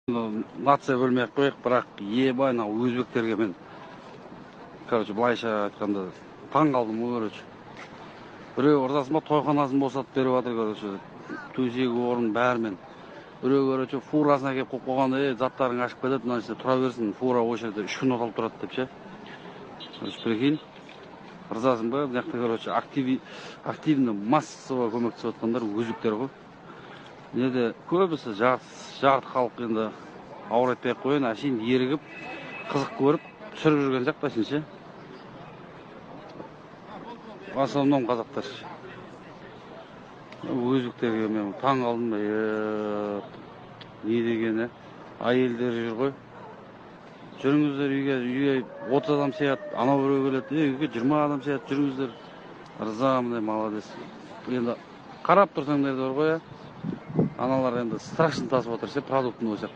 Нация бөлмей ақ қояйық, бірақ ебай мына өзбектерге мен былайша айтканда таң калдым. Бирөө ырдасыма тойханасын босатып берип атыр, төсегі орын бәрімен. Бирөө фурасына келип коюп койгон, заттарың ашып кетет, мына жерде тура берсин, фура ошол жерде 3 күн отолуп турат депчи. Прикинь, ырдасыңбы, мынакта активно массово көмөктөшүп аткандар өзбектер го. Неде көбүсү жагат халык енді ауыр айтпай ақ коеюн, ашейин ерігіп, қызық көріп, түсіріп жүрген жақ басыншы. В основном қазақтар. Өзбектерге мен таң қалдым. Не дегені, әйелдер жүр ғой. Жүріңіздер үйге 30 адам сыят, анау біреу келеді, үйге 20 адам сыят, жүріңіздер. Ырзамын, молодец. Енді қарап тұрсаңдар бар ғой, аналар енді страшно тасып отыр, продуктын ойсақ